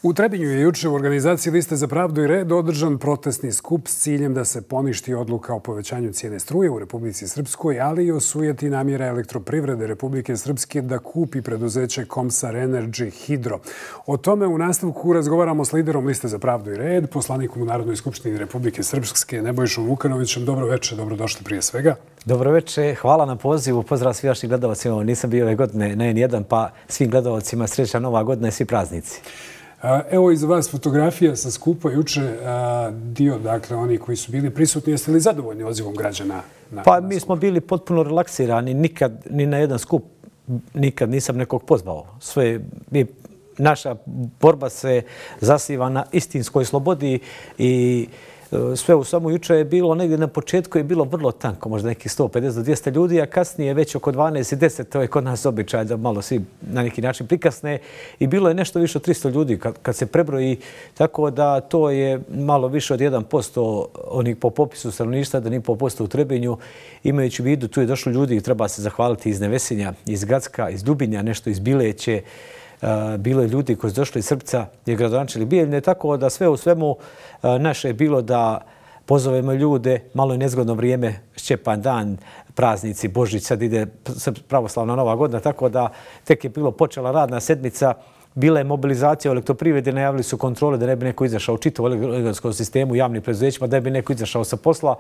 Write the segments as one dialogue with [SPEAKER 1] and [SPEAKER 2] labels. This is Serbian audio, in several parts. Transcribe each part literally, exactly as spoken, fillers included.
[SPEAKER 1] U Trebinju je juče u organizaciji Liste za pravdu i red održan protestni skup s ciljem da se poništi odluka o povećanju cijene struje u Republici Srpskoj, ali i osujeti namjera Elektroprivrede Republike Srpske da kupi preduzeće Komsar Energy Hidro. O tome u nastavku razgovaramo s liderom Liste za pravdu i red, poslanikom u Narodnoj skupštini Republike Srpske, Nebojšom Vukanovićem. Dobro večer, dobrodošli prije svega.
[SPEAKER 2] Dobro večer, hvala na pozivu, pozdrav svim vašim gledalcima. Nisam bio ove godine na en jedan, pa svim gledalcima srećna nova godina i svi praznici.
[SPEAKER 1] Evo iza vas fotografija sa skupa juče, dio, dakle, oni koji su bili prisutni. Jeste li zadovoljni odzivom građana?
[SPEAKER 2] Pa mi smo bili potpuno relaksirani, nikad, ni na jedan skup, nikad nisam nekog pozvao. Sve, mi, naša borba se zasiva na istinskoj slobodi i sve u samo juče je bilo, negdje na početku je bilo vrlo tanko, možda nekih sto pedeset do dvjesto ljudi, a kasnije već oko dvanaest i deset, to je kod nas običaj da malo svi na neki način prikasne i bilo je nešto više od tristo ljudi kad, kad se prebroji, tako da to je malo više od jedan posto onih po popisu stanovništva, da ni po posto u Trebinju. Imajući u vidu, tu je došlo ljudi, treba se zahvaliti iz Nevesinja, iz Gacka, iz Dubinja, nešto iz Bileće. Bilo je ljudi koji su došli iz Srpca i gradonačelnik Bijeljine, tako da sve u svemu naše je bilo da pozovemo ljude, malo je nezgodno vrijeme, Šćepan dan, praznici, Božić, sad ide pravoslavna nova godina, tako da tek je bilo počela radna sedmica, bila je mobilizacija u Elektroprivredi, najavili su kontrole da ne bi neko izašao u čitavom elektronskom sistemu, javnim preduzećima, da bi neko izašao sa posla.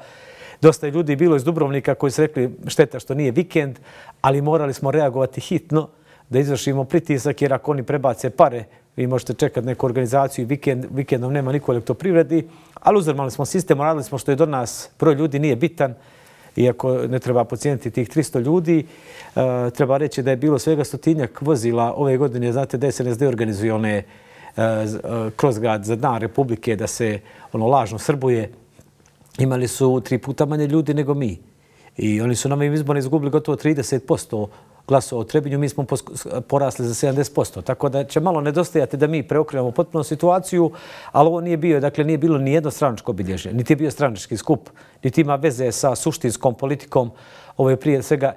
[SPEAKER 2] Dosta je ljudi bilo iz Dubrovnika koji su rekli šteta što nije vikend, ali morali smo reagovati hitno da izvršimo pritisak, jer ako oni prebace pare, vi možete čekati neku organizaciju i vikend, vikendom nema niko u Elektroprivredi, ali uzormali smo sistem, radili smo što je do nas, broj ljudi nije bitan, iako ne treba pocijeniti tih tristo ljudi. E, treba reći da je bilo svega stotinjak vozila ove godine, znate da S N S D organizuje one e, kroz grad za dan Republike, da se ono lažno srbuje. Imali su tri puta manje ljudi nego mi. I oni su na ovim izborima izgubili gotovo trideset posto glasova u Trebinju, mi smo porasli za sedamdeset posto. Tako da će malo nedostajati da mi preokrenemo potpuno situaciju, ali ovo nije bio, dakle nije bilo ni jedno stranačko obilježje, niti je bio stranački skup, niti ima veze sa suštinskom politikom. Ovo je prije svega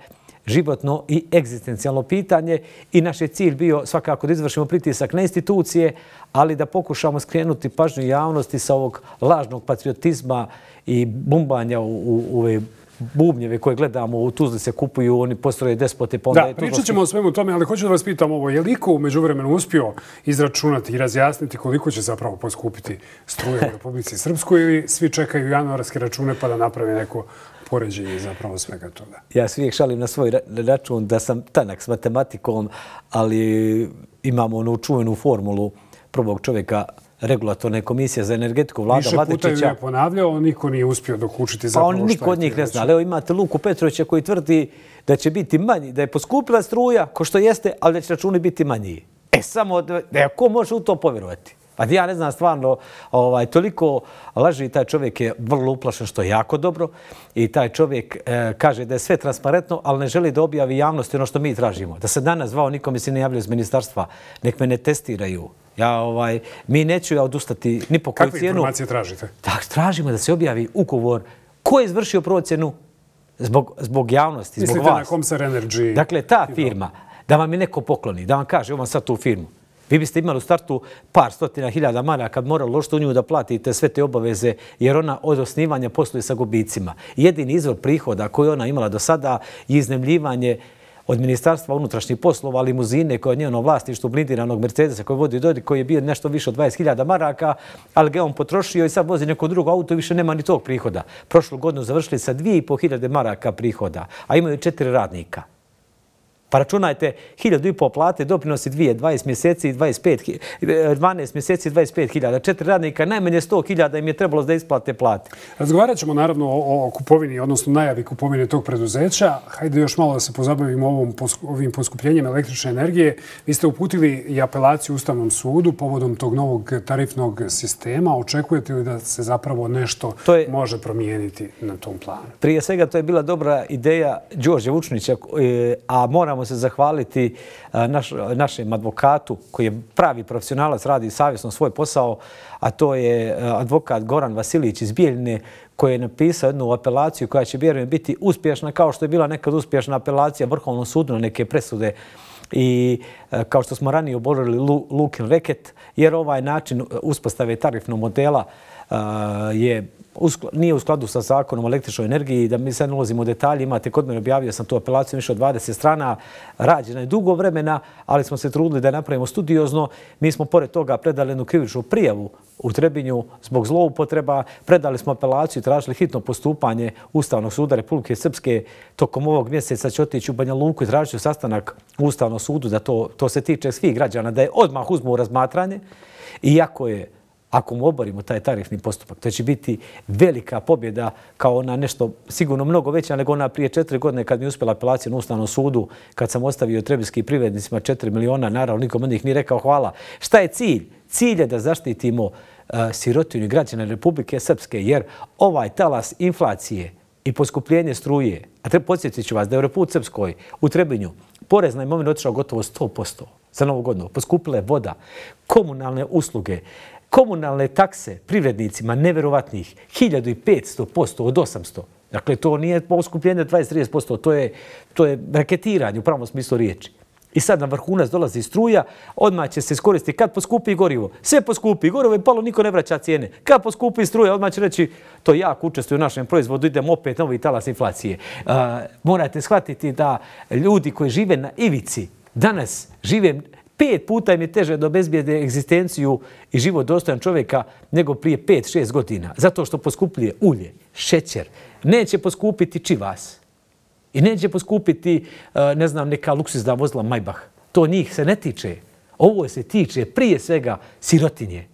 [SPEAKER 2] životno i egzistencijalno pitanje i naš je cilj bio svakako da izvršimo pritisak na institucije, ali da pokušamo skrenuti pažnju javnosti sa ovog lažnog patriotizma i bumbanja u, u, u ove bubnjeve koje gledamo u Tuzli se kupuju, oni postroje despote. Pa onda
[SPEAKER 1] da,
[SPEAKER 2] je
[SPEAKER 1] pričat ćemo o svemu tome, ali hoću da vas pitam ovo. Je li iko u međuvremenu uspio izračunati i razjasniti koliko će zapravo poskupiti struje u Republici Srpskoj ili svi čekaju januarske račune pa da naprave neko poređenje zapravo svega toga?
[SPEAKER 2] Ja se uvijek šalim na svoj račun da sam tanak s matematikom, ali imamo onu čuvenu formulu prvog čovjeka regulatorne komisije za energetiku vlada Vladičića.
[SPEAKER 1] Više puta je ponavljao, niko nije uspio dokučiti zapravo šta je.
[SPEAKER 2] Pa on niko od njih ne zna. Evo imate Luku Petrovića koji tvrdi da će biti manji, da je poskupila struja, ko što jeste, ali da će računi biti manji. E samo, da ko može u to povjerovati? Pa ja ne znam stvarno, ovaj, toliko laži, taj čovjek je vrlo uplašen, što je jako dobro. I taj čovjek e, kaže da je sve transparentno, ali ne želi da objavi javnosti ono što mi tražimo. Da se danas zvao, nikome se ne javljaju iz ministarstva, nek me ne testiraju. Ja, ovaj, mi neću ja odustati ni po koju cijenu.
[SPEAKER 1] Kakve informacije tražite?
[SPEAKER 2] Tak, tražimo da se objavi ugovor ko je izvršio procjenu zbog, zbog javnosti, zbog vas.
[SPEAKER 1] Mislite na Komsar Energy?
[SPEAKER 2] Dakle, ta firma, da vam je neko pokloni, da vam kaže, imam sad tu firmu. Vi biste imali u startu par stotina hiljada maraka kad morali ložiti u nju da platite sve te obaveze, jer ona od osnivanja posluje sa gubicima. Jedini izvor prihoda koji ona imala do sada je iznajmljivanje od Ministarstva unutrašnjih poslova, limuzine koje je njeno vlasništvo blindiranog Mercedesa koji vodi Dodik, koji je bio nešto više od dvadeset hiljada maraka, ali ga on potrošio i sad vozi neko drugo auto i više nema ni tog prihoda. Prošlu godinu završili sa dvije i po hiljade maraka prihoda, a imaju četiri radnika. Pa računajte, hiljadu i po plate, doprinosi dvije, dvadeset mjeseci i dvadeset pet, dvanaest mjeseci i dvadeset pet hiljada. Četiri radnika, najmanje sto hiljada im je trebalo da isplate plate.
[SPEAKER 1] Razgovarat ćemo naravno o, o kupovini, odnosno najavi kupovine tog preduzeća. Hajde još malo da se pozabavimo ovom, ovim poskupljenjem električne energije. Vi ste uputili i apelaciju Ustavnom sudu povodom tog novog tarifnog sistema. Očekujete li da se zapravo nešto je, može promijeniti na tom planu?
[SPEAKER 2] Prije svega, to je bila dobra ideja Đorđa Vučnića, a moramo se zahvaliti naš, našem advokatu koji je pravi profesionalac, radi savjesno svoj posao, a to je advokat Goran Vasilić iz Bijeljine koji je napisao jednu apelaciju koja će vjerujem biti uspješna kao što je bila nekad uspješna apelacija Vrhovnom sudu na neke presude i kao što smo ranije oborili Lukin reket, jer ovaj način uspostave tarifnog modela je nije u skladu sa zakonom o električnoj energiji, da mi sad ne ulazimo u detalje, imate kod mene, objavio sam tu apelaciju više od dvadeset strana, rađena je dugo vremena, ali smo se trudili da je napravimo studiozno. Mi smo pored toga predali jednu krivičnu prijavu u Trebinju zbog zloupotreba, predali smo apelaciju i tražili hitno postupanje Ustavnog suda Republike Srpske. Tokom ovog mjeseca će otići u Banja Luku i tražiti sastanak u Ustavnom sudu, da to, to se tiče svih građana, da je odmah uzmu u razmatranje. Iako je Ako mu oborimo taj tarifni postupak, to će biti velika pobjeda, kao ona nešto sigurno mnogo veća nego ona prije četiri godine kad mi je uspjela apelacija na Ustavnom sudu, kad sam ostavio trebinjskim privrednicima četiri miliona, naravno nikom od njih nije rekao hvala. Šta je cilj? Cilj je da zaštitimo uh, sirotinju građana Republike Srpske, jer ovaj talas inflacije i poskupljenje struje, a treba podsjetit ću vas da je u Republici Srpskoj u Trebinju porez na imovinu otišao gotovo sto posto za novu godinu. Poskupila je voda, komunalne usluge, komunalne takse privrednicima neverovatnih hiljadu petsto posto od osamsto. Dakle, to nije poskupljenje dvadeset do trideset posto, to je, to je raketiranje u pravom smislu riječi. I sad na vrhunac dolazi struja, odmah će se iskoristiti kad poskupi gorivo. Sve poskupi, gorivo je palo, niko ne vraća cijene. Kad poskupi struja, odmah će reći to jako učestvuje u našem proizvodu, idemo opet novi talas inflacije. Uh, morate shvatiti da ljudi koji žive na ivici danas žive pet puta im je teže da obezbijede egzistenciju i život dostojan čovjeka nego prije pet, šest godina. Zato što poskupljuje ulje, šećer. Neće poskupiti čivas. I neće poskupiti, ne znam, neka luksuzna vozila Maybach. To njih se ne tiče. Ovo se tiče prije svega sirotinje.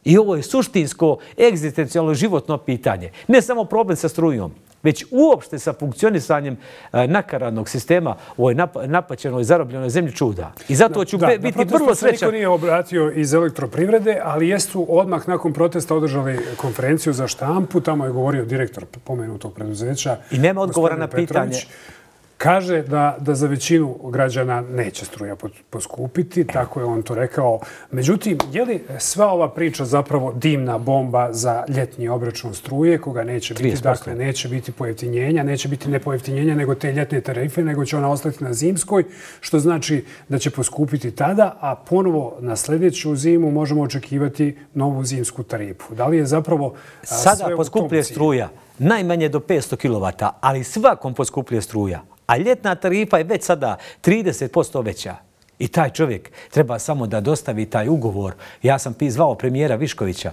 [SPEAKER 2] I ovo je suštinsko, egzistencijalno životno pitanje. Ne samo problem sa strujom, već uopšte sa funkcionisanjem nakaradnog sistema u ovoj napaćenoj, zarobljenoj zemlji čuda. I zato ću
[SPEAKER 1] da,
[SPEAKER 2] biti
[SPEAKER 1] da,
[SPEAKER 2] vrlo srećan.
[SPEAKER 1] Niko nije obratio iz elektroprivrede, ali jesu odmah nakon protesta održali konferenciju za štampu. Tamo je govorio direktor pomenutog preduzeća.
[SPEAKER 2] I nema odgovora na
[SPEAKER 1] Petrović.
[SPEAKER 2] pitanje.
[SPEAKER 1] Kaže da, da za većinu građana neće struja poskupiti, tako je on to rekao. Međutim, je li sva ova priča zapravo dimna bomba za ljetni obračun struje, koga neće biti, trideset posto. Dakle, neće biti pojeftinjenja, neće biti ne pojeftinjenja nego te ljetne tarife, nego će ona ostati na zimskoj, što znači da će poskupiti tada, a ponovo na sljedeću zimu možemo očekivati novu zimsku tarifu. Da li je zapravo
[SPEAKER 2] sada poskupljuje struja najmanje do petsto kilovata, ali svakom poskupljuje struja. A ljetna tarifa je već sada trideset posto veća. I taj čovjek treba samo da dostavi taj ugovor. Ja sam zvao premijera Viškovića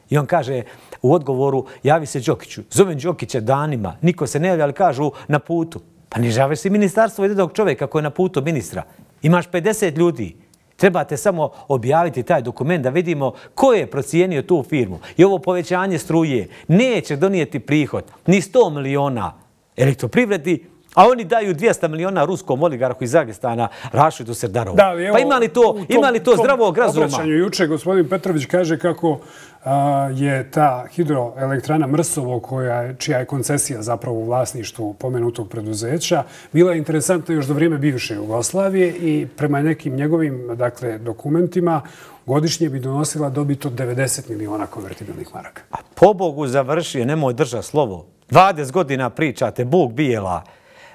[SPEAKER 2] i on kaže u odgovoru javi se Đokiću. Zovem Đokića danima, niko se ne javlja, ali kažu na putu. Pa ne žaveš si ministarstvo jednog čovjeka koji je na putu ministra. Imaš pedeset ljudi. Trebate samo objaviti taj dokument da vidimo ko je procijenio tu firmu. I ovo povećanje struje neće donijeti prihod ni sto miliona elektroprivredi, a oni daju dvjesto miliona ruskom oligarhu iz Dagestana Rašidu Serdarovu. Da, evo, pa ima li to, tom, ima li to zdravog razuma?
[SPEAKER 1] U obraćanju juče gospodin Petrović kaže kako a, je ta hidroelektrana Mrsovo, koja, čija je koncesija zapravo u vlasništvu pomenutog preduzeća, bila interesantna još do vrijeme bivše Jugoslavije i prema nekim njegovim dakle, dokumentima godišnje bi donosila dobit od devedeset miliona konvertibilnih maraka.
[SPEAKER 2] A po Bogu završio, nemoj držati slovo. dvadeset godina pričate, Bog bijela,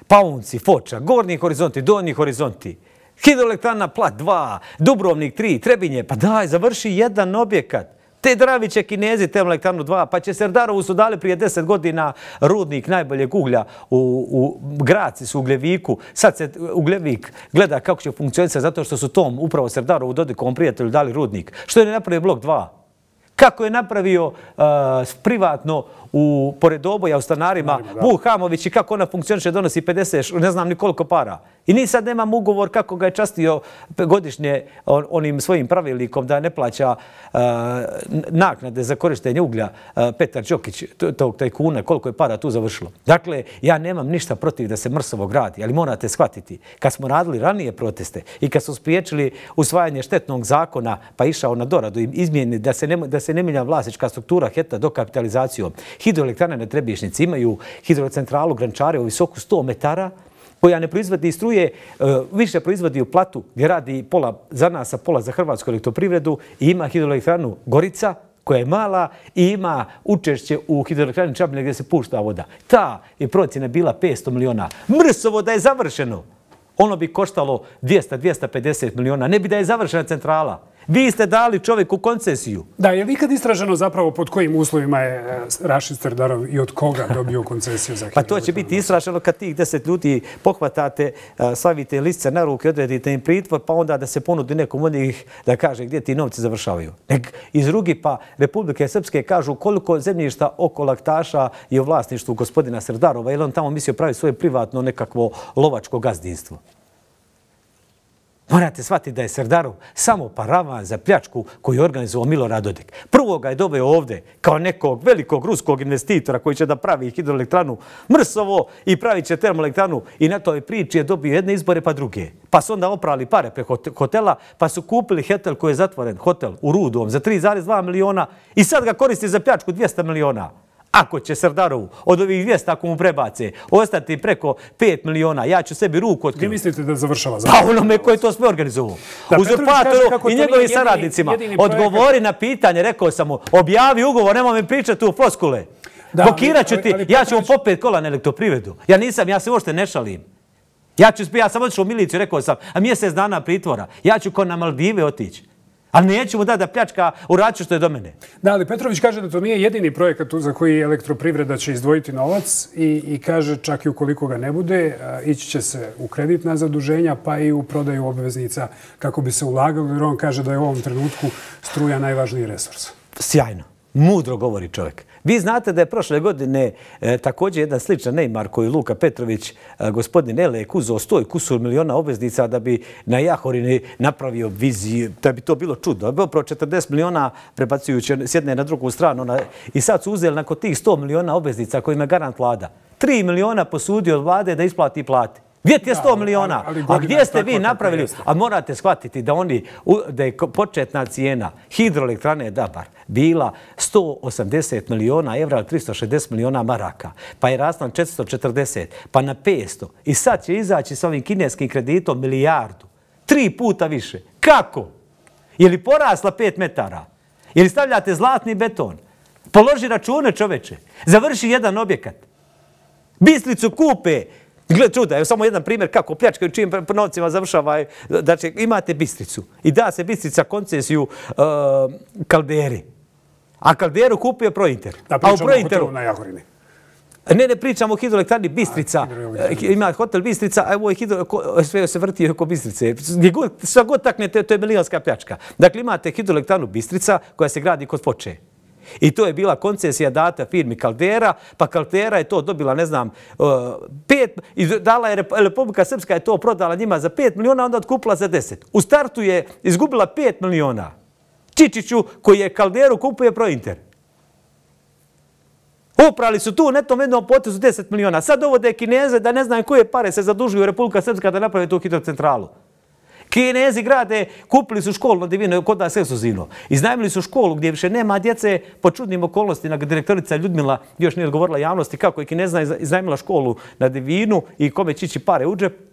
[SPEAKER 2] Paunci, Foča, Gornji horizonti, Donji horizonti, hidroelektrana Plat dva, Dubrovnik tri, Trebinje. Pa daj, završi jedan objekat. Te Dravi će Kinezi termoelektranu dva, pa će Serdarovu su dali prije deset godina rudnik najboljeg uglja u, u Graci su Ugljeviku. Sad se Ugljevik gleda kako će funkcionisati zato što su tom upravo Serdarovu Dodikovom prijatelju dali rudnik. Što je napravio blok dva? Kako je napravio uh, privatno u pored oboja u stanarima Vuk Hamović i kako ona funkcioniše, donosi pedeset, ne znam ni koliko para. I ni sad nemam ugovor kako ga je častio godišnje on, onim svojim pravilnikom da ne plaća uh, naknade za korištenje uglja uh, Petar Đokić, tog tajkuna, koliko je para tu završilo. Dakle, ja nemam ništa protiv da se Mrsovo gradi, ali morate shvatiti, kad smo radili ranije proteste i kad smo spriječili usvajanje štetnog zakona pa išao na doradu i izmjeni da se ne, da se ne mijenja vlasnička struktura Heta dokapitalizacijom, hidroelektrane na Trebinjšnici imaju hidrocentralu Grančare u visoku sto metara, koja ne proizvodi struje, više proizvodi u Platu gdje radi pola za nas, a pola za Hrvatsku elektroprivredu i ima hidroelektranu Gorica koja je mala i ima učešće u hidroelektrani Čabljina gdje se pušta voda. Ta je procjena bila petsto miliona. Mrsovo da je završeno. ono bi koštalo dvjesto do dvjesto pedeset miliona. Ne bi da je završena centrala. Vi ste dali čovjeku koncesiju.
[SPEAKER 1] Da, je li ikad istraženo zapravo pod kojim uslovima je Rašid Serdarov i od koga dobio koncesiju za hidroelektranu?
[SPEAKER 2] Pa to će biti istraženo kad tih deset ljudi pohvatate, stavite listce na ruke, odredite im pritvor, pa onda da se ponudi nekom od njih da kaže gdje ti novci završavaju. Nek iz drugi pa Republike Srpske kažu koliko zemljišta oko Laktaša je u vlasništvu gospodina Serdarova, jer on tamo mislio praviti svoje privatno nekakvo lovačko gazdinstvo. Morate shvatiti da je Serdarov samo paravan za pljačku koju je organizovao Milorad Dodik. Prvo ga je doveo ovdje kao nekog velikog ruskog investitora koji će da pravi hidroelektranu Mrsovo i pravit će termoelektranu i na toj priči je dobio jedne izbore pa druge. Pa su onda oprali pare preko hotela pa su kupili hotel koji je zatvoren, hotel u Rudom za tri zarez dva miliona i sad ga koristi za pljačku dvjesto miliona. Ako će Serdarovu od ovih dvjesto, ako mu prebace, ostati preko pet miliona, ja ću sebi ruku otkriti.
[SPEAKER 1] Vi mislite da završava zapravo?
[SPEAKER 2] Pa onome koji je to sve organizovao. Uzurpatoru i njegovim saradnicima. Odgovori na pitanje, rekao sam mu, objavi ugovor, nemoj mi pričati u floskule. Blokirat ću ti, ja ću mu popet kola na elektroprivredu. Ja nisam, ja se uopšte ne šalim. Ja sam otišao u miliciju, rekao sam, a mjesec dana pritvora. Ja ću ko na Maldive otići. Ali neću mu dati da pljačka u račun što je do mene.
[SPEAKER 1] Da, ali Petrović kaže da to nije jedini projekat za koji elektroprivreda će izdvojiti novac i kaže čak i ukoliko ga ne bude, ići će se u kreditna zaduženja pa i u prodaju obveznica kako bi se ulagalo, jer on kaže da je u ovom trenutku struja najvažniji resurs.
[SPEAKER 2] Sjajno. Mudro govori čovjek. Vi znate da je prošle godine također jedan sličan Neymar koji Luka Petrović, gospodin Elek, uzeo sto kusur miliona obveznica da bi na Jahorini napravio viziju, da bi to bilo čudno. Bilo pro četrdeset miliona prebacujući s jedne na drugu stranu. I sad su uzeli nakon tih sto miliona obveznica kojima je garant vlada. tri miliona posudio od vlade da isplati plati. Gdje ti je sto miliona? A gdje ste vi napravili? A morate shvatiti da oni, da je početna cijena hidroelektrane Dabar bila sto osamdeset miliona evra ili tristo šezdeset miliona maraka. Pa je rasla na četiristo četrdeset, pa na petsto. I sad će izaći s ovim kineskim kreditom milijardu. Tri puta više. Kako? Je li porasla pet metara? Je li stavljate zlatni beton? Položi račune, čoveče. Završi jedan objekat. Bistricu kupe. Gled čuda, evo samo jedan primjer kako pljačkaju čijim novcima završava. Znači, imate Bistricu i da se Bistrica koncesiju Kalderi. A Kalderu kupio Prointer.
[SPEAKER 1] Da, pričamo o hotelu na Jahorini.
[SPEAKER 2] Ne, ne pričamo o hidroelektrani Bistrica. Ima hotel Bistrica, a ovo je sve se vrti oko Bistrice. Šta god taknete, to je milijonska pljačka. Dakle, imate hidroelektranu Bistrica koja se gradi kod Foče. I to je bila koncesija data firmi Kaldera, pa Kaldera je to dobila, ne znam, pet, i dala je Republika Srpska je to prodala njima za pet miliona, onda otkupila za deset. U startu je izgubila pet miliona. Čičiću, koji je Kalderu, kupuje Prointer. Uprali su tu netom jednom potezu deset miliona. Sad dovode Kineze da ne znaju koje pare se zadužuju Republika Srpska da naprave tu hidrocentralu. Kinezi grade, kupili su školu na Divino, kod nas ekskluzivno. Iznajmili su školu gdje više nema djece po čudnim okolnostima. Direktorica Ljudmila još nije odgovorila javnosti kako je Kinezna iznajmila školu na Divinu i kome će ići pare u džep.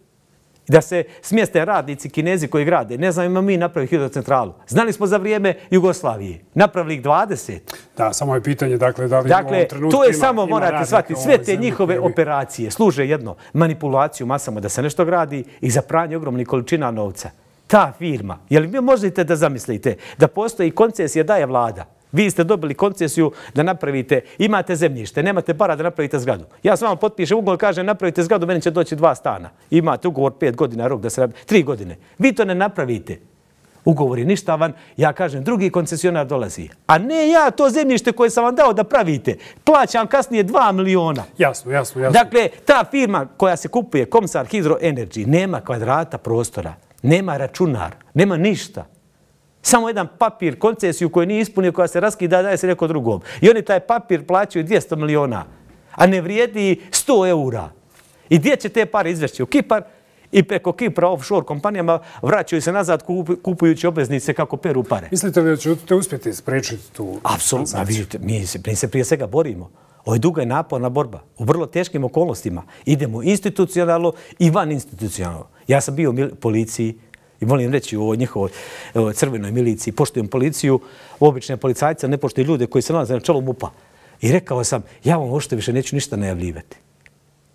[SPEAKER 2] Da se smjeste radnici Kinezi koji grade. Ne znam, ima mi napravili hidrocentralu. Znali smo za vrijeme Jugoslavije. Napravili ih dvadeset.
[SPEAKER 1] Da, samo je pitanje, dakle, da li
[SPEAKER 2] dakle,
[SPEAKER 1] u ovom trenutku
[SPEAKER 2] to je
[SPEAKER 1] ima,
[SPEAKER 2] samo,
[SPEAKER 1] ima
[SPEAKER 2] morate shvatiti, sve te njihove koji... operacije služe jedno, manipulaciju masama da se nešto gradi i za pranje ogromnih količina novca. Ta firma, je li vi možete da zamislite da postoji koncesija daje vlada? Vi ste dobili koncesiju da napravite, imate zemljište, nemate para da napravite zgradu. Ja s vama potpišem ugovor, kažem napravite zgradu, meni će doći dva stana. Imate ugovor pet godina, rok da se napravi, tri godine. Vi to ne napravite. Ugovor je ništavan, ja kažem drugi koncesionar dolazi. A ne ja to zemljište koje sam vam dao da pravite. Plaćam kasnije dva miliona.
[SPEAKER 1] Jasno, jasno, jasno.
[SPEAKER 2] Dakle, ta firma koja se kupuje, Komsar Hydro Energy, nema kvadrata prostora, nema računar, nema ništa. Samo jedan papir, koncesiju koju nije ispunio, koja se raskida, daje se neko drugom. I oni taj papir plaćaju dvjesto miliona, a ne vrijedi sto eura. I gdje će te pare izvešći? U Kipar i preko Kipra offshore kompanijama vraćaju se nazad kupujući obveznice kako peru pare.
[SPEAKER 1] Mislite li da ćete uspjeti spriječiti tu?
[SPEAKER 2] Apsolutno. Vidite, mi se, mi se prije svega borimo. Ovo je duga i naporna borba. U vrlo teškim okolnostima. Idemo institucionalno i van institucionalno. Ja sam bio u policiji, i volim reći u njihovoj crvenoj miliciji, poštujem policiju, obične policajce, ne poštuju ljude koji se nalaze na čelu MUP-a. I rekao sam, ja vam uopšte više neću ništa najavljivati.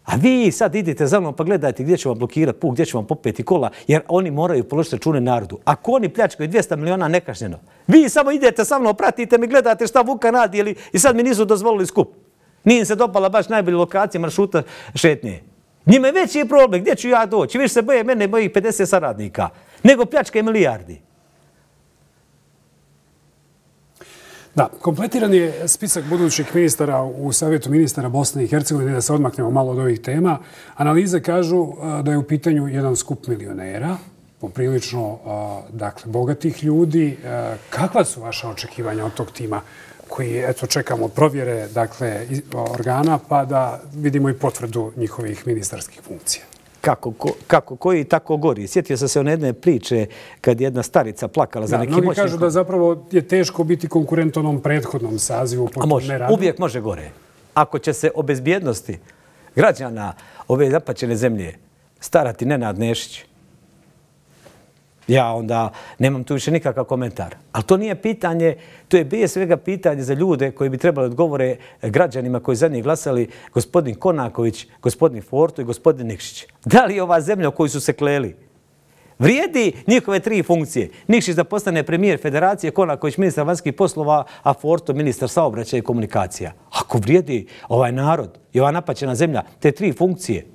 [SPEAKER 2] A vi sad idite za mnom pa gledajte gdje će vam blokirati put, gdje će vam popeti kola, jer oni moraju položiti račune narodu. Ako oni pljačkaju dvjesto miliona nekažnjeno, vi samo idete sa mnom, pratite me, gledate šta Vukan radi ili, i sad mi nisu dozvolili skup. Nije im se dopala baš najbolja lokacija maršruta šetnje. Njima je veći problem, gdje ću ja doći? Više se boje mene, mojih pedeset saradnika, nego pljačke milijardi.
[SPEAKER 1] Da, kompletiran je spisak budućih ministara u Savjetu ministara Bosne i Hercegovine, da se odmaknemo malo od ovih tema. Analize kažu da je u pitanju jedan skup milionera, poprilično dakle, bogatih ljudi. Kakva su vaša očekivanja od tog tima koji, eto, čekamo provjere dakle, organa pa da vidimo i potvrdu njihovih ministarskih funkcija?
[SPEAKER 2] Kako, ko, kako koji tako gori. Sjetio sam se one jedne priče kad je jedna starica plakala za
[SPEAKER 1] da,
[SPEAKER 2] nekim moćnikom.
[SPEAKER 1] Mnogi kažu da zapravo je teško biti konkurent onom prethodnom sazivu.
[SPEAKER 2] A može, uvijek može gore. Ako će se o bezbjednosti građana ove zapaćene zemlje starati Nenad Nešić, ja onda nemam tu više nikakav komentar. Ali to nije pitanje, to je prije svega pitanje za ljude koji bi trebali odgovore građanima koji za njih glasali, gospodin Konaković, gospodin Forto i gospodin Nikšić. Da li je ova zemlja u kojoj su se kleli vrijedi njihove tri funkcije? Nikšić da postane premijer Federacije, Konaković ministar vanjskih poslova, a Forto ministar saobraćaja i komunikacija. Ako vrijedi ovaj narod i ova napaćena zemlja, te tri funkcije,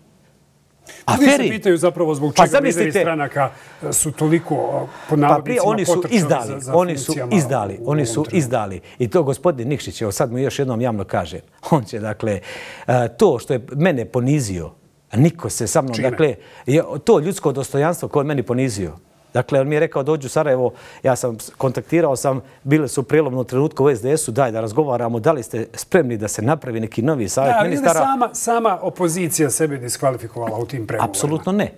[SPEAKER 1] Ljudi se pitaju zapravo zbog čega lideri stranaka su toliko pod navodnicima potrčali za, za
[SPEAKER 2] oni su izdali, oni su izdali. I to gospodin Nikšić, evo sad mu još jednom javno kaže, on će, dakle, to što je mene ponizio, a niko se sa mnom,
[SPEAKER 1] Čime?
[SPEAKER 2] dakle, to ljudsko dostojanstvo koje je meni ponizio. Dakle, on mi je rekao dođu u Sarajevo, ja sam kontaktirao sam, bile su u prijelomnom trenutku u es de esu, daj da razgovaramo, da li ste spremni da se napravi neki novi savjet
[SPEAKER 1] da,
[SPEAKER 2] ministara?
[SPEAKER 1] Sama, sama opozicija sebe diskvalifikovala u tim pregovorima.
[SPEAKER 2] Apsolutno ne.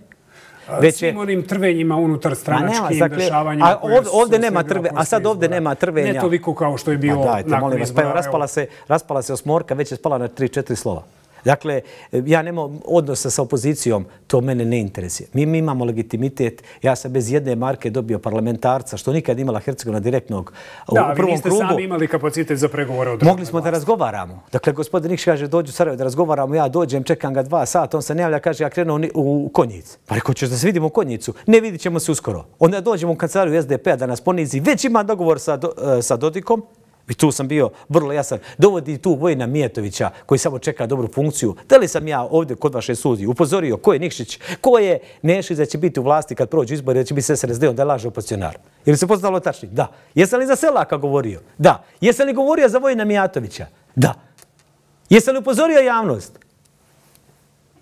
[SPEAKER 1] Već Svim je... onim trvenjima unutar stranačkim dakle, dešavanjima.
[SPEAKER 2] A ovdje, ovdje nema trve, a sad ovdje nema trvenja.
[SPEAKER 1] Ne toliko kao što je bilo
[SPEAKER 2] dajte,
[SPEAKER 1] nakon
[SPEAKER 2] vas,
[SPEAKER 1] izbora.
[SPEAKER 2] Pa raspala, se, raspala se osmorka, već je spala na tri četiri slova. Dakle, ja nemam odnosa sa opozicijom, to mene ne interesuje. Mi, mi imamo legitimitet, ja sam bez jedne marke dobio parlamentarca, što nikad imala Hercegovina direktnog u
[SPEAKER 1] da,
[SPEAKER 2] prvom
[SPEAKER 1] vi
[SPEAKER 2] krugu.
[SPEAKER 1] Da, vi niste sami imali kapacitet za pregovore od
[SPEAKER 2] Mogli smo da razgovaramo. Dakle, gospodin Nikšić kaže, dođu u Sarajevo da razgovaramo, ja dođem, čekam ga dva sata, on se ne javlja, kaže, ja krenuo u Konjic. Pa rekao, ćeš da se vidimo u Konjicu? Ne, vidit ćemo se uskoro. Onda dođemo u kancelariju es de pe-a da nas ponizi. Već ima dogovor sa, do, sa Dodikom. I tu sam bio vrlo jasan. Dovodi tu Vojina Mijetovića koji samo čeka dobru funkciju. Da li sam ja ovdje kod vaše sudi upozorio ko je Nikšić, ko je Nešić da će biti u vlasti kad prođu izbori, da će biti s es er es de-om, da je laže opozicionar? Je li se poznalo tačni? Da. Jesam li za Selaka govorio? Da. Jesam li govorio za Vojina Mijatovića? Da. Jesam li upozorio javnost?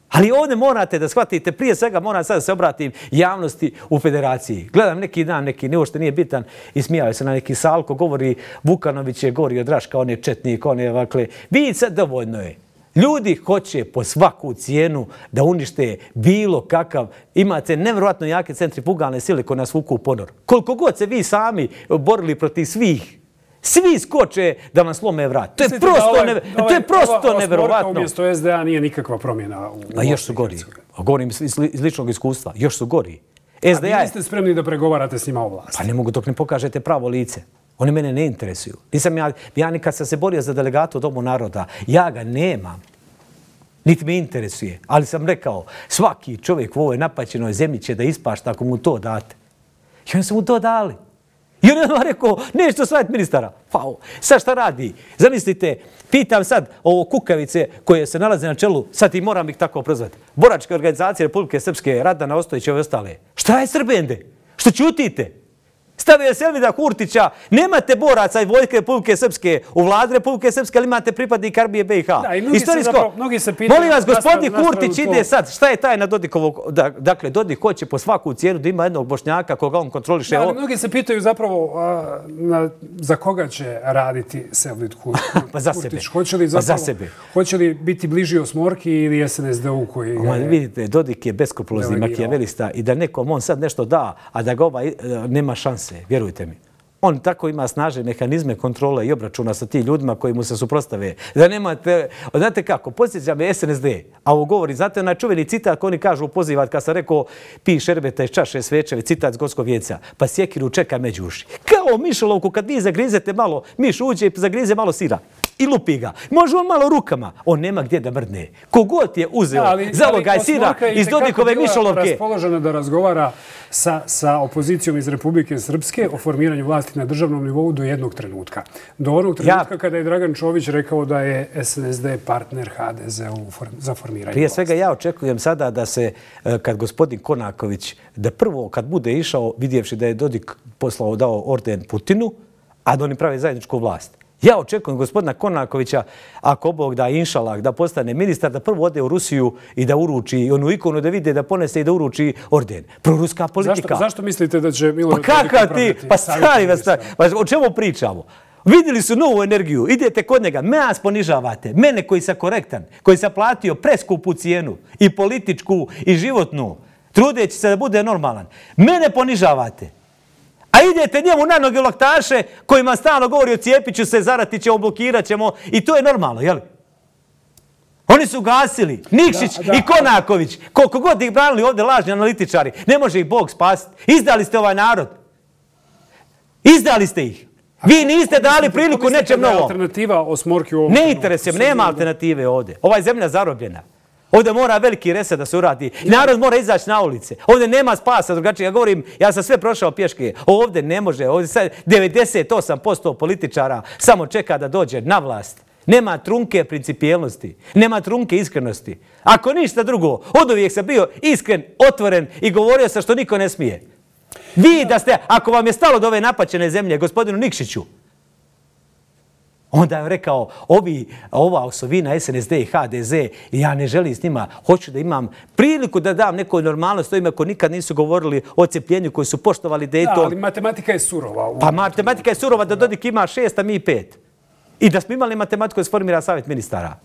[SPEAKER 2] Ali ovdje morate da shvatite, prije svega moram sad da se obratim javnosti u federaciji. Gledam neki dan, neki ne uopšte nije bitan i smijaju se na neki salko, govori Vukanović je gori od Raška, on je četnik, on je ovakle. Vidite sad, dovoljno je. Ljudi hoće po svaku cijenu da unište bilo kakav, imate nevjerojatno jake centrifugalne sile koje nas vuku u ponor. Koliko god se vi sami borili protiv svih, svi skoče da vam slome vrat. To je prosto, ovaj, neve, ovaj, to je prosto ova, neverovatno.
[SPEAKER 1] Umjesto es de a nije nikakva promjena. U,
[SPEAKER 2] A još su gori. Govorim iz, iz ličnog iskustva. Još su gori.
[SPEAKER 1] es de a A vi niste spremni da pregovarate s njima o vlasti?
[SPEAKER 2] Pa ne mogu dok ne pokažete pravo lice. Oni mene ne interesuju. Nisam ja, ja nikad sam se borio za delegatu Domu naroda. Ja ga nemam. Niti me interesuje. Ali sam rekao, svaki čovjek u ovoj napaćenoj zemlji će da ispašta ako mu to date. I oni su mu to dali. I on je rekao, nešto savjet ministara. Wow. Sad šta radi? Zamislite, pitam sad ovo kukavice koje se nalaze na čelu, sad i moram ih tako prozvati. Boračke organizacije Republike Srpske, Radana Ostojić i ove ostale. Šta je Srbende? Što ćutite? Stavio je Selvida Kurtića, nemate boraca i vojske Republike Srpske u vladi Republike Srpske, ali imate pripadnik Arbije be i ha.
[SPEAKER 1] Da, i mnogi se, zapravo, mnogi se pitaju...
[SPEAKER 2] Molim vas, gospodin Kurtić ide sad. Šta je tajna Dodikovog? Dakle, Dodik hoće po svaku cijenu da ima jednog Bošnjaka koga on kontroliše.
[SPEAKER 1] Da, ali mnogi se pitaju zapravo a, na, za koga će raditi Selvid Kurtić.
[SPEAKER 2] Pa za sebe.
[SPEAKER 1] Hoće li, zapravo,
[SPEAKER 2] pa za sebe.
[SPEAKER 1] Hoće li biti bliži Osmorki ili es en es de-u koji...
[SPEAKER 2] Oma, je... Vidite, Dodik je beskrupulozni makijavelista i da nekom on sad nešto da, a da ga ovaj nema šanse. Vjerujte mi. On tako ima snažne mehanizme kontrole i obračuna sa ti ljudima koji mu se suprostave. Da nemate, znate kako, posjeća me es en es de, a ovo govori, znate onaj čuveni citat koji oni kažu pozivat, kad sam rekao pi šerbeta iz čaše svečeve, citat s Gorskog vijeca, pa sjekiru čeka među uši. Kao mišolovku, kad vi zagrizete malo, miš uđe i zagrize malo sira. i lupi ga. Može on malo rukama. On nema gdje da mrdne. Kogod je uzeo za ovoga sira iz Dodikove mišolovke.
[SPEAKER 1] Raspoložena da razgovara sa, sa opozicijom iz Republike Srpske o formiranju vlasti na državnom nivou do jednog trenutka. Do onog trenutka ja, kada je Dragan Čović rekao da je S N S D partner H D Z-u za formiranje
[SPEAKER 2] Prije
[SPEAKER 1] vlasti.
[SPEAKER 2] svega ja očekujem sada da se, kad gospodin Konaković, da prvo kad bude išao, vidjevši da je Dodik poslao, dao orden Putinu, a da oni pravi zajedničku vlast. Ja očekujem gospodina Konakovića, ako Bog da inšalah, da postane ministar, da prvo ode u Rusiju i da uruči onu ikonu, da vide, da ponese i da uruči orden. Proruska politika.
[SPEAKER 1] Zašto, zašto mislite da će Milorad
[SPEAKER 2] Pa kakav ti? Pa stari vas, pa o čemu pričamo? Vidjeli su novu energiju, idete kod njega, me nas ponižavate, mene koji sam korektan, koji sam platio preskupu cijenu, i političku, i životnu, trudeći se da bude normalan. Mene ponižavate. A idete njemu na noge laktaše kojima stalno govori o Cijepiću se, zarati ćemo, blokirat ćemo i to je normalno, jel? Oni su gasili, Nikšić da, da, i Konaković, koliko god ih branili ovdje lažni analitičari, ne može ih Bog spasiti. Izdali ste ovaj narod. Izdali ste ih. Vi niste dali priliku nečem novom.
[SPEAKER 1] Alternativa Osmorki u ovom
[SPEAKER 2] ne interesujem, nema alternative ovdje. Ova je zemlja zarobljena. Ovdje mora veliki reset da se uradi. Narod mora izaći na ulice. Ovdje nema spasa drugačije. Ja govorim, ja sam sve prošao pješke. Ovdje ne može. Ovdje sad devedeset osam posto političara samo čeka da dođe na vlast. Nema trunke principijelnosti. Nema trunke iskrenosti. Ako ništa drugo, od uvijek sam bio iskren, otvoren i govorio sam što niko ne smije. Vi da ste, ako vam je stalo do ove napaćene zemlje, gospodinu Nikšiću, onda je rekao, ovi, ova osovina S N S D i H D Z, ja ne želim s njima, hoću da imam priliku da dam nekoj normalnost, to ime koji nikad nisu govorili o cepljenju, koji su poštovali Dayton.
[SPEAKER 1] Da, ali matematika je surova.
[SPEAKER 2] Pa matematika je surova da Dodik ima šest, a mi pet. I da smo imali matematiku da se formira savjet ministara.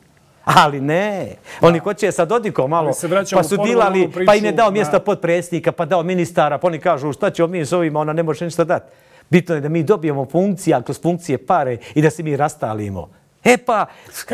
[SPEAKER 2] Ali ne, oni hoće sa Dodikom malo, pa su dilali, pa im je dao mjesto podpredsjednika, pa dao ministara, pa oni kažu šta ćemo mi s ovima, ona ne može ništa dati. Bitno je da mi dobijemo funkcije, a kroz funkcije pare i da se mi rastalimo. E pa,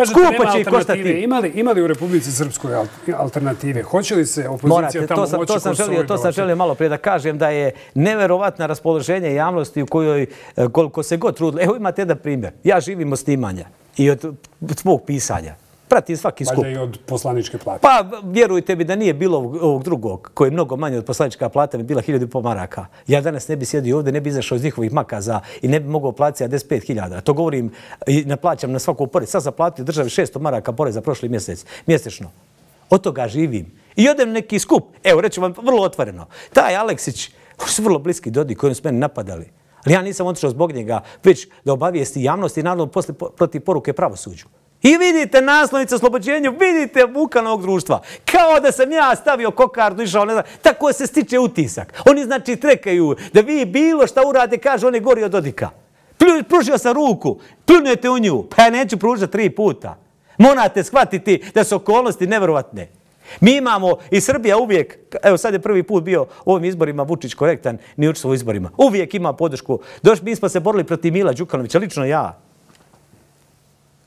[SPEAKER 2] skupo će ih koštati.
[SPEAKER 1] Ima li u Republici Srpskoj alternative? Hoće li se opozicija tamo moći kroz svoj dođe?
[SPEAKER 2] To sam želio malo prije da kažem da je neverovatno raspoloženje javnosti u kojoj, koliko se god trudili. Evo imate jedan primjer. Ja živim od snimanja i od svog pisanja. Pratim svaki skup.
[SPEAKER 1] Valjda i od poslaničke plate.
[SPEAKER 2] Pa vjerujte mi da nije bilo ovog drugog, koji je mnogo manje od poslanička plata, bi bila hiljadu i pol maraka. Ja danas ne bi sjedio ovdje, ne bi izašao iz njihovih makaza i ne bi mogao platiti sedamdeset pet hiljada. To govorim i naplaćam na svaku porez. Sad sam platio državi šesto maraka poreza prošli mjesec, mjesečno. Od toga živim. I odem neki skup. Evo, reću vam vrlo otvoreno. Taj Aleksić, oni su vrlo bliski Dodik koji su mene napadali. Ali ja nisam otišao zbog njega, već da obavijesti javnost i naravno posle protiv poruke pravosuđu. I vidite naslovnice oslobođenju, vidite muka novog društva. Kao da sam ja stavio kokardu, išao, ne znam, tako se stiče utisak. Oni znači trekaju da vi bilo šta urade, kaže, on je gori od Dodika. Pružio sam ruku, pljunujete u nju, pa ja neću pružati tri puta. Morate shvatiti da su okolnosti nevjerovatne. Mi imamo, i Srbija uvijek, evo sad je prvi put bio u ovim izborima Vučić korektan, ni učestvo u izborima, uvijek ima podršku. Došli, mi smo se borili protiv Mila Đukanovića, lično ja.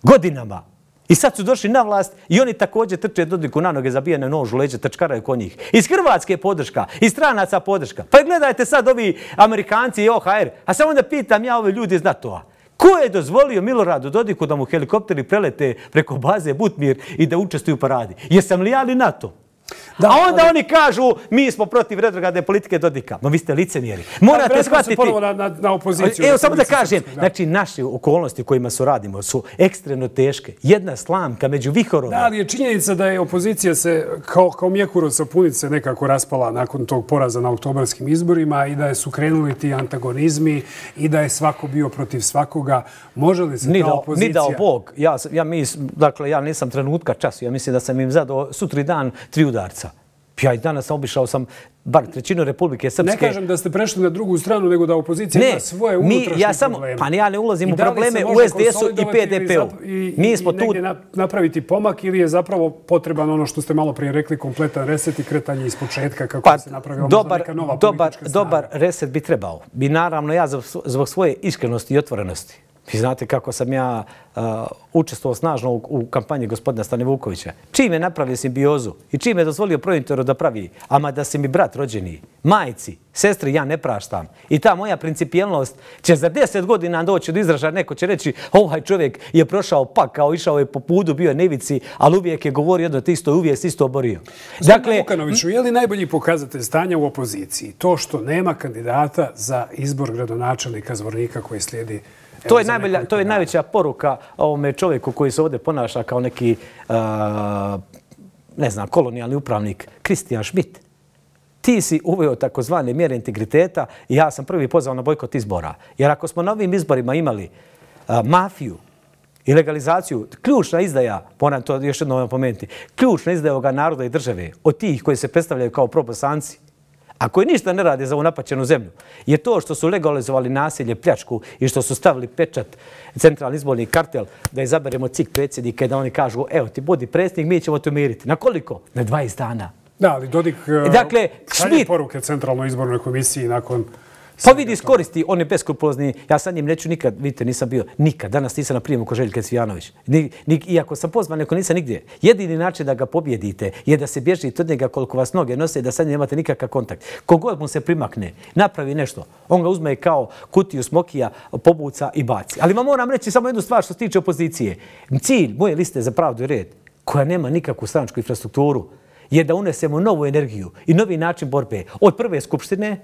[SPEAKER 2] Godinama. I sad su došli na vlast i oni također trče Dodiku na noge, zabijene nož u leđe, trčkaraju kod njih. Iz Hrvatske podrška, iz stranaca podrška. Pa gledajte sad ovi Amerikanci i O H R. A samo da pitam ja ove ljudi iz NATO-a. Ko je dozvolio Miloradu Dodiku da mu helikopteri prelete preko baze Butmir i da učestvuju u paradi? Jesam li ja li NATO? Da, a onda ali... oni kažu, mi smo protiv retrogradne politike Dodika. Ma vi ste licemjeri. Morate shvatiti...
[SPEAKER 1] Na, na, na opoziciju.
[SPEAKER 2] Evo samo da kažem, srpske, da. Znači naše okolnosti u kojima su radimo su ekstremno teške. Jedna slamka među vihorom.
[SPEAKER 1] Da, ali je činjenica da je opozicija se kao, kao mjekuro sa punice nekako raspala nakon tog poraza na oktobarskim izborima i da su krenuli ti antagonizmi i da je svako bio protiv svakoga. Može li se
[SPEAKER 2] ni
[SPEAKER 1] ta
[SPEAKER 2] da,
[SPEAKER 1] opozicija...
[SPEAKER 2] Ni dao Bog. Ja, ja, mis, dakle, ja nisam trenutka času. Ja mislim da sam im zadao sutri dan tri udarca. Ja i danas obišao sam bar trećinu Republike Srpske.
[SPEAKER 1] Ne kažem da ste prešli na drugu stranu, nego da opozicija ne, ima svoje unutrašnje mi, ja samo, probleme.
[SPEAKER 2] Pa ja ne ulazim u probleme u S D S-u i P D P-u.
[SPEAKER 1] I, mi smo i tu... negdje napraviti pomak ili je zapravo potreban ono što ste malo prije rekli, kompletan reset i kretanje iz početka kako pa, se napravila
[SPEAKER 2] dobar,
[SPEAKER 1] neka nova
[SPEAKER 2] dobar,
[SPEAKER 1] politička snaga.
[SPEAKER 2] Dobar reset bi trebao. Bi naravno ja zbog svoje iskrenosti i otvorenosti. Vi znate kako sam ja uh, učestvovao snažno u, u kampanji gospodina Stane Vukovića. Čim je napravio simbiozu i čim je dozvolio Prointeru da pravi, ama da se mi brat rođeni, majci, sestri ja ne praštam. I ta moja principijelnost će za deset godina doći do izražaja. Neko će reći, ovaj čovjek je prošao pakao, išao je po pudu, bio je nevici, ali uvijek je govorio jedno te isto, uvijek se isto oborio.
[SPEAKER 1] Dakle, Vukanoviću, je li najbolji pokazatelj stanja u opoziciji to što nema kandidata za izbor gradonačelnika Zvornika koji slijedi?
[SPEAKER 2] To je, najbolja, to je najveća poruka ovome čovjeku koji se ovdje ponaša kao neki, uh, ne znam, kolonijalni upravnik, Kristijan Schmidt. Ti si uveo takozvane mjere integriteta i ja sam prvi pozvao na bojkot izbora. Jer ako smo na ovim izborima imali uh, mafiju i legalizaciju, ključna izdaja, moram to još jednom napomenuti, ključna izdaja ovoga naroda i države od tih koji se predstavljaju kao probosanci, a koji ništa ne rade za ovu napaćenu zemlju, je to što su legalizovali nasilje, pljačku i što su stavili pečat centralni izborni kartel da izaberemo C I K predsjednika i da oni kažu evo ti budi predsjednik, mi ćemo te umiriti. Na koliko? Na dvadeset dana.
[SPEAKER 1] Da, ali Dodik
[SPEAKER 2] dakle,
[SPEAKER 1] šalje poruke centralnoj izbornoj komisiji nakon...
[SPEAKER 2] Pa vidi, iskoristi, on je beskrupulozni. Ja sad njim neću nikad, vidite, nisam bio nikad. Danas nisam na prijemu ko Željka Cvijanović. Ni, ni, iako sam pozvan, neko nisam nigdje. Jedini način da ga pobjedite je da se bježite od njega koliko vas noge nose, da sad nemate nikakav kontakt. Kogod mu se primakne, napravi nešto, on ga uzme kao kutiju smokija, pobuca i baci. Ali vam moram reći samo jednu stvar što se tiče opozicije. Cilj moje liste za pravdu i red, koja nema nikakvu stranačku infrastrukturu, je da unesemo novu energiju i novi način borbe. Od prve skupštine,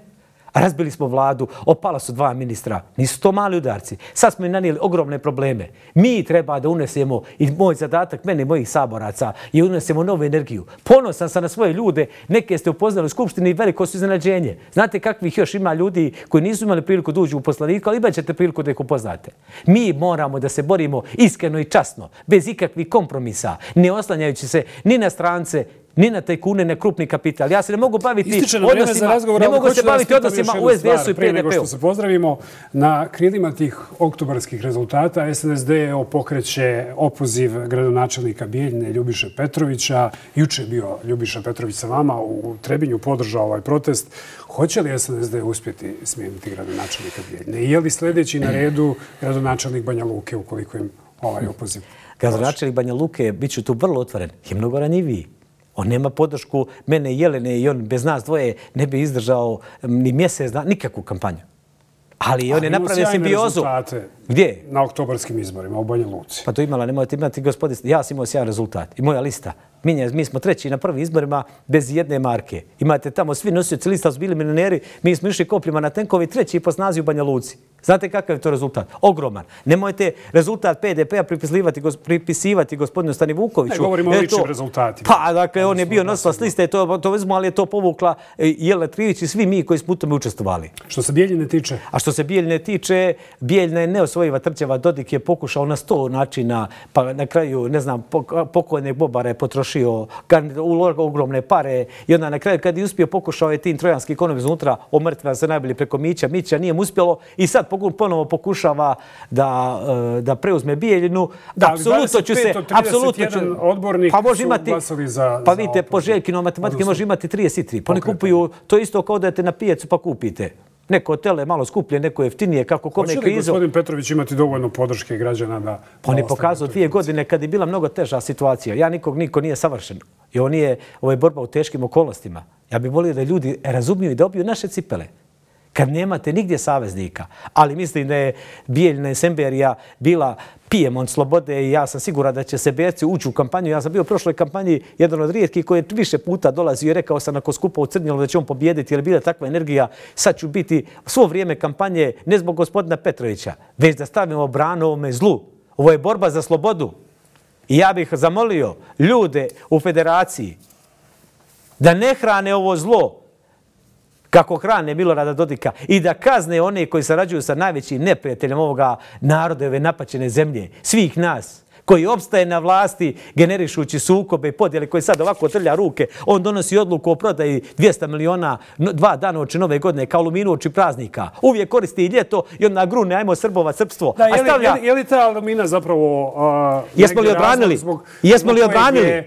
[SPEAKER 2] razbili smo vladu, opala su dva ministra. Nisu to mali udarci. Sad smo im nanijeli ogromne probleme. Mi treba da unesemo, i moj zadatak, mene i mojih saboraca, je unesemo novu energiju. Ponosan sam na svoje ljude. Neke ste upoznali u skupštini i veliko su iznenađenje. Znate kakvih još ima ljudi koji nisu imali priliku da uđu u poslanika, ali imat ćete priliku da ih upoznate. Mi moramo da se borimo iskreno i časno, bez ikakvih kompromisa, ne oslanjajući se ni na strance, ni na tajkune, ne krupni kapital. Ja se ne mogu baviti odnosima,
[SPEAKER 1] razgovor,
[SPEAKER 2] ne mogu se baviti odnosima u S D S-u i P D P-u.
[SPEAKER 1] Prije nego što se pozdravimo, na krilima tih oktobarskih rezultata S N S D pokreće opoziv gradonačelnika Bijeljine Ljubiše Petrovića. Juče je bio Ljubiša Petrović sa vama, u Trebinju podržao ovaj protest. Hoće li S N S D uspjeti smijeniti gradonačelnika Bijeljine? I je li sljedeći na redu gradonačelnik Banja Luke ukoliko im ovaj opoziv?
[SPEAKER 2] Gradonačelnik Banja Luke, bit ću tu vrlo otvoren, je mnogo ranjiviji. On nema podršku mene i Jelene i on bez nas dvoje ne bi izdržao ni mjesec, nikakvu kampanju. Ali on je napravio simbiozu. Gdje?
[SPEAKER 1] Na oktobarskim izborima u Banja Luci.
[SPEAKER 2] Pa to imala, nemojte imati gospodin. Ja sam imao sjajan rezultat i moja lista. Mi smo treći na prvim izborima bez jedne marke. Imate tamo svi nosioci lista su bili milioneri, mi smo išli kopljima na tenkovi, treći po snazi u Banja Luci. Znate kakav je to rezultat? Ogroman. Nemojte rezultat P D P-a pripisivati gospodinu Stani Vukoviću.
[SPEAKER 1] Ne govorimo o ličnim rezultatima.
[SPEAKER 2] Pa, dakle, on je bio nosilac liste, to vezmo, ali je to povukla Jelena Trivić i svi mi koji smo u tome učestvovali.
[SPEAKER 1] Što se Bijeljine tiče?
[SPEAKER 2] A što se Bijeljine tiče, Bijeljina je neosvojiva trčeva. Dodik je pokušao na sto načina, pa na kraju, ne znam, pokojnog Bobara je potrošio ogromne pare i onda na kraju kad je uspio pokušao je tim trojanski ekonom iznutra omrtva se najbolje preko Mića. Mića nije mu uspjelo i sad ponovo pokušava da, da preuzme Bijeljinu.
[SPEAKER 1] Da, ali dvadeset pet od trideset jedan odbornik
[SPEAKER 2] pa
[SPEAKER 1] su glasali za...
[SPEAKER 2] Pa vidite, po Željkinom matematike može imati trideset tri. Pa oni kupuju, to isto kao da idete na pijacu pa kupite. Neko tele malo skuplje, neko jeftinije, kako kome krizo.
[SPEAKER 1] Hoće li gospodin Petrović imati dovoljno podrške građana da...
[SPEAKER 2] On je pokazao dvije godine kad je bila mnogo teža situacija. Ja nikog, niko nije savršen. I on je, ovo je borba u teškim okolnostima. Ja bih volio da ljudi razumiju i da obiju naše cipele. Kad nemate nigdje saveznika, ali mislim da je Bijeljina i Semberija bila pijemont slobode i ja sam siguran da će Seberci ući u kampanju. Ja sam bio u prošloj kampanji jedan od rijetkih koji je više puta dolazio i rekao sam nakon skupa u Crnjelu da će on pobijediti jer je bila takva energija. Sad ću biti svo vrijeme kampanje ne zbog gospodina Petrovića, već da stavimo branu ovome zlu. Ovo je borba za slobodu. I ja bih zamolio ljude u federaciji da ne hrane ovo zlo kako hrane Milorada Dodika i da kazne one koji sarađuju sa najvećim neprijateljem ovoga naroda, ove napaćene zemlje, svih nas, koji opstaje na vlasti generišući sukobe i podjele koji sad ovako trlja ruke. On donosi odluku o prodaji dvjesto miliona dva dana oči nove godine kao luminu oči praznika. Uvijek koristi i ljeto i onda grune, ajmo Srbova, srpstvo.
[SPEAKER 1] Da, je, li, je, li, je li ta lumina zapravo... Uh,
[SPEAKER 2] jesmo li odbranili? Jesmo li odbranili?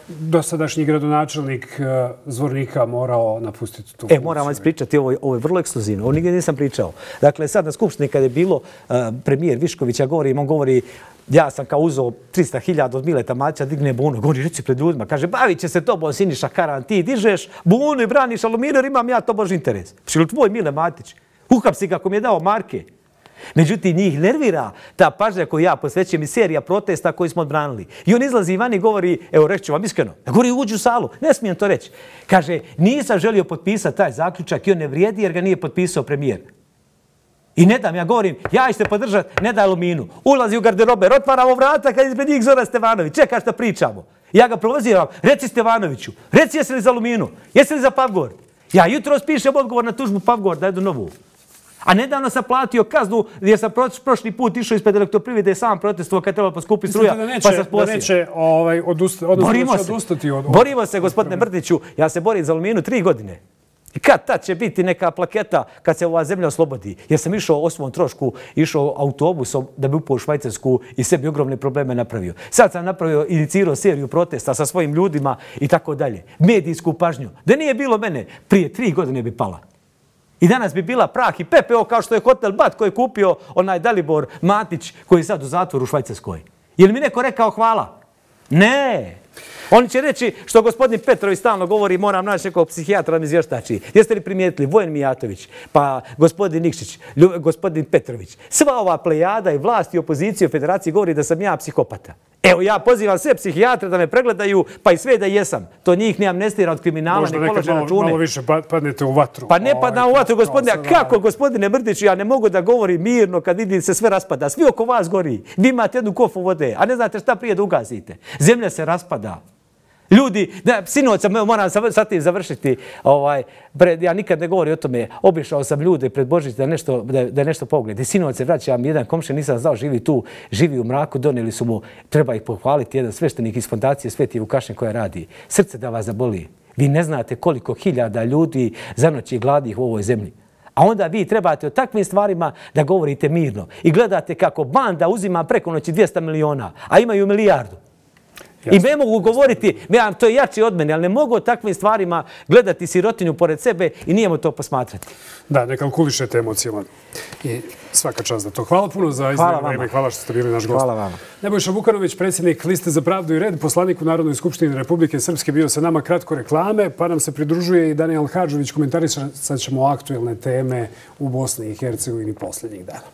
[SPEAKER 1] dosadašnji gradonačelnik Zvornika morao napustiti tu
[SPEAKER 2] funkciju. E, moram vam ispričati, ovo, ovo je vrlo ekskluzivno. Ovo nigdje nisam pričao. Dakle, sad na Skupštini kada je bilo uh, premijer Viškovića govori, on govori, ja sam kao uzeo trista hiljada od Mileta Matića, digne bunu, govori, reci pred ljudima, kaže, bavit će se tobom Siniša Karan, ti dižeš bunu i braniš aluminij, imam ja to bož interes. Šil tvoj Mile Matić, uhapsi kako mi je dao marke. Međutim, njih nervira ta pažnja koju ja posvećujem i serija protesta koju smo odbranili. I on izlazi van i govori, evo reći ću vam iskreno, ja govori uđi u salu, ne smijem to reći. Kaže, nisam želio potpisati taj zaključak i on ne vrijedi jer ga nije potpisao premijer. I ne dam, ja govorim, ja ćete podržati, ne da Aluminu. Ulazi u garderober, otvaramo vrata kad ispred njih Zoran Stevanović, čeka šta pričamo. Ja ga provoziram, reci Stevanoviću, reci jesi li za Aluminu, jesi li za Pavgord. Ja jutro spišem odgovor na tužbu Pavgord, da jedu novu. A nedavno sam platio kaznu jer sam prošli put išao ispred Elektroprivrede i sam protestovao kad je trebalo poskupi struja, pa sam sposio.
[SPEAKER 1] Da neće ovaj, odustati, odnosno da će odustati od...
[SPEAKER 2] Borimo se, gospodine Mrdiću, ja se borim za Aluminu tri godine. I kad tad će biti neka plaketa kad se ova zemlja oslobodi? Jer sam išao o svom trošku, išao autobusom da bi upao u Švajcarsku i sebi ogromne probleme napravio. Sad sam napravio, inicirao seriju protesta sa svojim ljudima i tako dalje. Medijsku pažnju. Da nije bilo mene, prije tri godine bi pala. I danas bi bila prah i pepeo kao što je hotel Bat koji je kupio onaj Dalibor Matić koji je sad u zatvoru u Švajcarskoj. Je li mi neko rekao hvala? Ne. Oni će reći što gospodin Petrović stalno govori, moram naći nekog psihijatra da mi izvještači. Jeste li primijetili Vojen Mijatović, pa gospodin Nikšić, gospodin Petrović. Sva ova plejada i vlast i opozicija u federaciji govori da sam ja psihopata. Evo ja pozivam sve psihijatre da me pregledaju, pa i sve da jesam. To njih ne amnestira od kriminala, ne polože račune.
[SPEAKER 1] Možda nekad malo više padnete u vatru.
[SPEAKER 2] Pa ne padam u vatru, gospodine. A kako, gospodine Mrdiću, ja ne mogu da govorim mirno kad vidim se sve raspada. Svi oko vas gori. Vi imate jednu kofu vode, a ne znate šta prije da ugasite. Zemlja se raspada. Ljudi, da, sinoć sam, moram sa tim završiti, ovaj, pred, ja nikad ne govorim o tome, obišao sam ljude pred Božić da nešto, da, da nešto pogledi. Sinoć se vraćam, jedan komšija, nisam znao, živi tu, živi u mraku, donijeli su mu, treba ih pohvaliti, jedan sveštenik iz fondacije Sveti Vukašin koja radi. Srce da vas zaboli. Vi ne znate koliko hiljada ljudi zanoći gladnih u ovoj zemlji. A onda vi trebate o takvim stvarima da govorite mirno. I gledate kako banda uzima preko noći dvjesto miliona, a imaju milijardu. I ne mogu govoriti, ja, to je jači od mene, ali ne mogu o takvim stvarima gledati sirotinju pored sebe i nijemo to posmatrati.
[SPEAKER 1] Da, ne kalkulišete emocijama. I svaka čast za to. Hvala puno za izdvojeno vreme. Hvala što ste bili naš gost.
[SPEAKER 2] Hvala vama.
[SPEAKER 1] Nebojša Vukanović, predsjednik Liste za pravdu i red, poslanik u Narodnoj skupštini Republike Srpske, bio sa nama, kratko reklame, pa nam se pridružuje i Danijel Hadžović. Komentarisat ćemo aktuelne teme u Bosni i Hercegovini posljednjih dana.